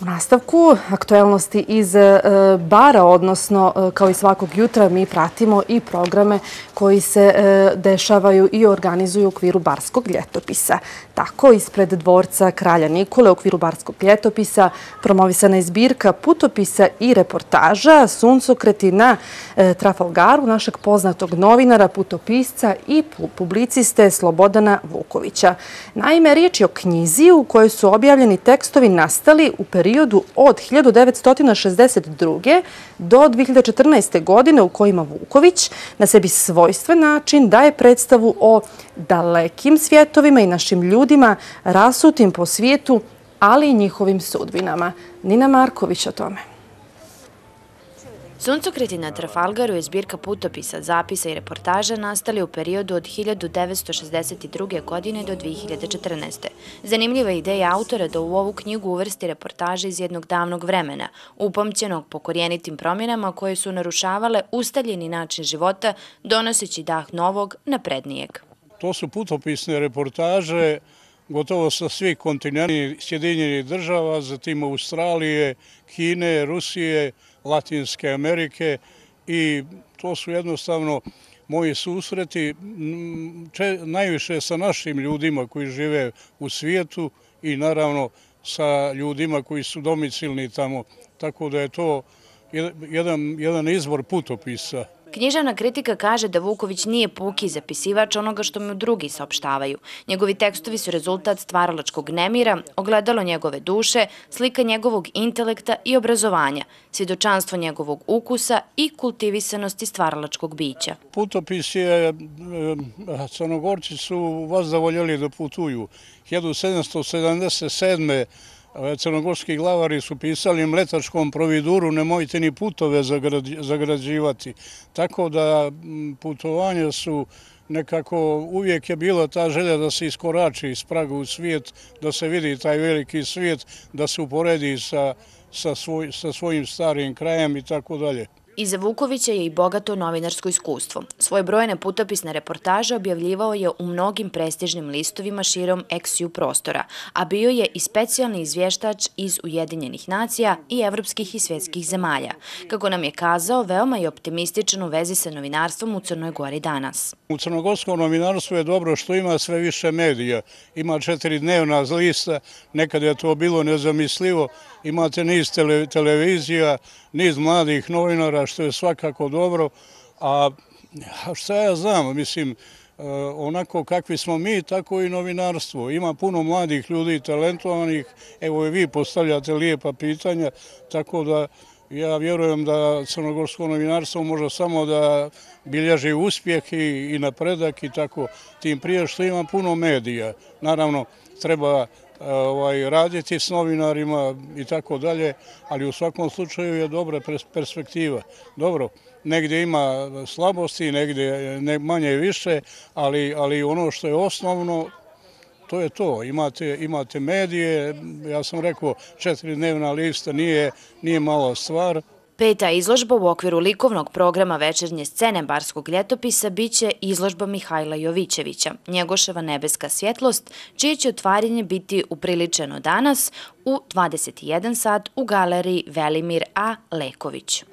U nastavku aktuelnosti iz bara, odnosno kao i svakog jutra mi pratimo i programe koji se dešavaju i organizuju u okviru Barskog ljetopisa. Tako, ispred dvorca Kralja Nikole u okviru Barskog ljetopisa promovisana je zbirka putopisa i reportaža Suncokreti na Trafalgaru našeg poznatog novinara, putopisca i publiciste Slobodana Vukovića. Naime, riječ je o knjizi u kojoj su objavljeni tekstovi nastali u periodu od 1962. do 2014. godine u kojima Vuković na sebi svojstven način daje predstavu o dalekim svjetovima i našim ljudima rasutim po svijetu, ali i njihovim sudbinama. Nina Marković o tome. Suncokreti na Trafalgaru je zbirka putopisa, zapisa i reportaža nastali u periodu od 1962. godine do 2014. Zanimljiva ideja autora da u ovu knjigu uvrsti reportaže iz jednog davnog vremena, upamćenog po korijenitim promjenama koje su narušavale ustaljeni način života, donoseći dah novog, naprednijeg. To su putopisne reportaže gotovo sa svih kontinenta, Sjedinjenih država, zatim Australije, Kine, Rusije, Latinske Amerike, i to su jednostavno moji susreti najviše sa našim ljudima koji žive u svijetu i naravno sa ljudima koji su domicilni tamo. Tako da je to jedan izvor putopisa. Književna kritika kaže da Vuković nije puki zapisivač onoga što mu drugi saopštavaju. Njegovi tekstovi su rezultat stvaralačkog nemira, ogledalo njegove duše, slika njegovog intelekta i obrazovanja, svjedočanstvo njegovog ukusa i kultivisanosti stvaralačkog bića. Putopis je, Crnogorci su vas voljeli da putuju. 1777. Crnogorski glavari su pisali mletačkom providuru nemojte ni putove zagrađivati. Tako da putovanja su nekako, uvijek je bila ta želja da se iskorači iz praga u svijet, da se vidi taj veliki svijet, da se uporedi sa svojim starim krajem i tako dalje. Iza Vukovića je i bogato novinarsko iskustvo. Svoje brojne putopisne reportaže objavljivao je u mnogim prestižnim listovima širom ex-ju prostora, a bio je i specijalni izvještač iz Ujedinjenih nacija i evropskih i svjetskih zemalja. Kako nam je kazao, veoma je optimističan u vezi sa novinarstvom u Crnoj Gori danas. U crnogorskom novinarstvu je dobro što ima sve više medija. Ima 4-dnevna lista, nekad je to bilo nezamislivo. Imate niz televizija, niz mladih novinara, što je svakako dobro. A šta ja znam, mislim, onako kakvi smo mi, tako i novinarstvo. Ima puno mladih ljudi, talentovanih, evo i vi postavljate lijepa pitanja, tako da ja vjerujem da crnogorsko novinarstvo može samo da bilježi uspjeh i napredak i tako, tim prije što ima puno medija. Naravno, treba raditi s novinarima i tako dalje, ali u svakom slučaju je dobra perspektiva. Dobro, negdje ima slabosti, negdje manje i više, ali ono što je osnovno, to je to. Imate medije, ja sam rekao 4-dnevna lista nije mala stvar. Peta izložba u okviru likovnog programa večernje scene Barskog ljetopisa biće izložba Mihajla Jovićevića, Njegoševa nebeska svjetlost, čije će otvaranje biti upriličeno danas u 21 sat u galeriji Velimir A. Leković.